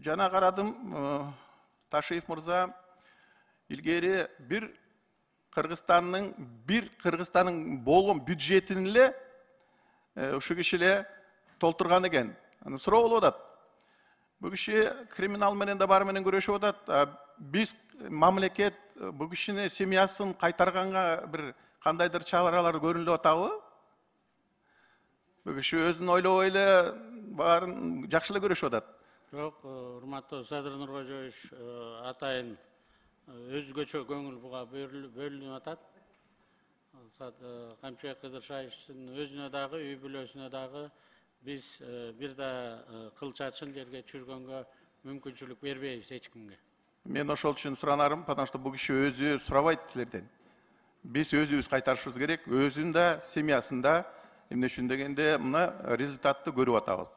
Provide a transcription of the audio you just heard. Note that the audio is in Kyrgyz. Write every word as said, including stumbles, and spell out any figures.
жана карадым, Ташиев мырза илгери бир Кыргызстандын бир Кыргызстандын болгон бюджетин эле ушу киши эле толтурган экен. Аны суроо болуп атат. Бу киши криминал менен да баары менен күрөшүп атат. Биз мамлекет бу кишини семьясын кайтарганга бир кандайдыр чаралар көрүнүп атабы? Бу киши өзүн ойлобой эле баарын жакшы эле көрүшүп атат. Жок, урматтуу Садыр Нуркожоевич, атайын өзгөчө көңүл буга бөлүнүп атат. Камчыбек Кыдыршаевичтин өзүнө дагы, үй бүлөсүнө дагы биз бир да кыл чачын жерге түшүргөнгө мүмкүнчүлүк бербейбиз эч кимге. Мен ошол үчүн суранарым, потому что бу киши өзү сурабайт силерден. Биз өзүбүз кайтарышыбыз керек, өзүн да, семьясын да, эмне үчүн дегенде мына результатты көрүп атабыз.